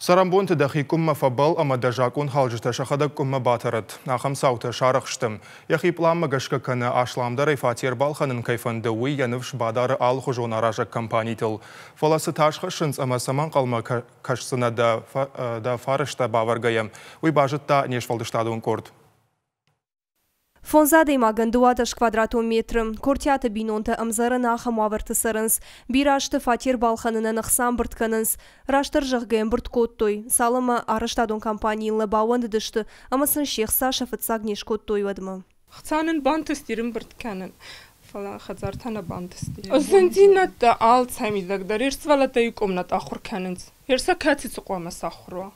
Цӕрӕнбонты дӕхи къуыммӕ фӕбӕлл ӕмӕ дӕ закъонхалджытӕ сӕхӕдӕг къуыммӕ батӕрӕд. Ахӕм цаутӕ сарӕх сты. Йӕхи пъланмӕ гӕсгӕ кӕнӕ асламдӕрӕй фатер балхӕнын кӕй фӕнды, уый йӕ ныфс бадары алыхуызон аразӕг компанитыл. Фӕлӕ цы тас хӕссынц ӕмӕ цӕмӕ ӕнхъӕлмӕ кӕсдзынӕ дӕ фӕрӕзтӕ бавӕргӕйӕ, уый базыдта не сфӕлдыстадон къорд. Фондз адӕймагӕн 12 квадратон метры. Кортиаты бинонтӕ ӕмдзӕрӕн ахӕм уавӕрты цӕрынц. Бирӕ азты фатер балхӕнынӕн ӕхца ӕмбырд кӕнынц. Растдӕр зӕгъгӕ, ӕмбырд кодтой, цалынмӕ арӕзтадон компанийыл нӕ баууӕндыдысты ӕмӕ сын се хца сӕ фыццаг не скодтой, уӕдмӕ. Хца нын бантысти ӕрӕмбырд кӕнын, фӕлӕ хӕдзар та нӕ бантысти. Зындзинӕдтӕ алцӕмидӕг дӕр ис, сывӕллӕттӕ иу къуымнӕт ахуыр кӕнынц. Ерсӕ кӕцы цы хъуамӕ сахуыр уа?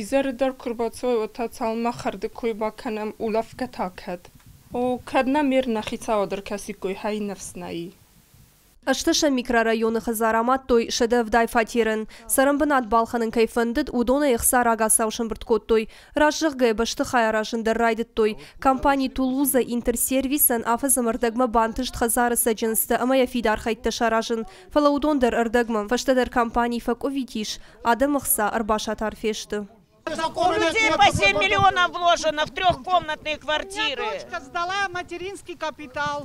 Изӕры дӕр куы рбацӕуой, уӕд та цалынмӕ хӕрды кой бакӕнӕм, улӕфгӕ та кӕд? О, кӕд нӕм ме рнӕ хицауад ӕркӕсиккой, хай ныфс нӕй. Ӕстӕсӕм микрорайоны хӕдзар амадтой 170 фатерӕн. Цӕрӕнбынат балхӕнын кӕй фӕндыд, уыдонӕй ӕхца рагацау сӕмбырд кодтой. Раст зӕгъгӕйӕ, бӕстыхай аразын дӕр райдыдтой. Компани Тулуза Интерсервисӕн афӕдз ӕмӕ ӕрдӕгмӕ бантыст хӕдзары цӕджындзтӕ ӕмӕ йӕ фидар хӕйттӕ саразын. Фӕлӕ уыдон дӕр ӕрдӕгмӕ. Фӕстӕдӕр компани фӕкъуывит ис, адӕмы хца ӕрбасатар фесты. У людей по 7 миллионов вложено в трехкомнатные квартиры. У меня дочка сдала материнский капитал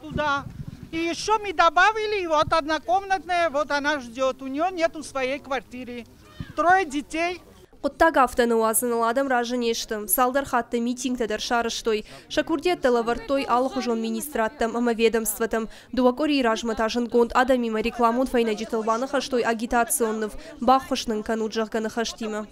туда. И еще мы добавили, и вот однокомнатная, вот она ждет. У нее нету своей квартиры. Трое детей. Хъуыддаг афтӕ ныууадзыныл адӕм разы не сты. Цалдӕр хатты митингтӕ дӕр сарӕзтой. Сӕ курдиӕттӕ лӕвӕрдтой алыхуызон министрадтӕм ӕмӕ ведомствотӕм. Дыууӕ къуырийы размӕ та зындгонд адӕмимӕ рекламон фӕйнӕджытыл баныхӕстой агитацион ныв, баххуыс нын кӕнут, зӕгъгӕ, ныхӕстимӕ.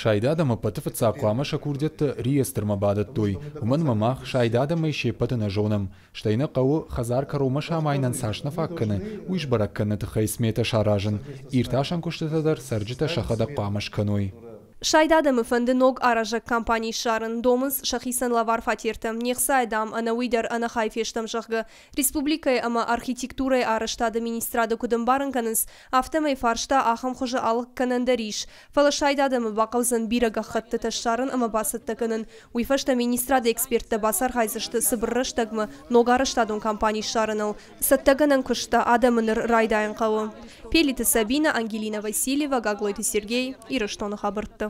Сайд адӕм ӕппӕты фыццаг хъуамӕ сӕ курдиӕттӕ реестрмӕ бадӕттой, уымӕн ӕмӕ мах сайд адӕмӕй се ппӕты нӕ зонӕм. Стӕй нӕ хъӕуы, хӕдзар кӕронмӕ самайынӕн цас нӕ фаг кӕны, уый сбӕрӕг кӕныны тыххӕй сметӕ саразын. Иртасӕн куыстытӕ дӕр цӕрджытӕ сӕхӕдӕг хъуамӕ скӕной. Сайд адӕмы фӕнды ног аразӕг компани ссарын, домынц сӕхицӕн лӕвар фатертӕ. Не хцайӕ, дам, ӕнӕуый дӕр ӕнӕхай фестӕм, зӕгъгӕ. Республикӕйы ӕмӕ архитектурӕйы арӕзтады министрады куыд ӕмбарын кӕнынц, афтӕмӕй фарста ахӕм хуызы алыг кӕнӕн дӕр ис. Фӕлӕ сайд адӕмы бахъӕудзӕн бирӕ гӕххӕттытӕ ссарын ӕмӕ бацӕттӕ кӕнын. Уый фӕстӕ министрады эксперттӕ бацархайдзысты цыбыр рӕстӕгмӕ ног арӕзтадон компани ссарыныл. Цӕттӕгӕнӕн куыст та адӕмы ныр райдайын хъӕуы. Пелиты Сабина, Ангелина Васильева, Гаглойты Сергей, Ирыстоны хабӕрттӕ.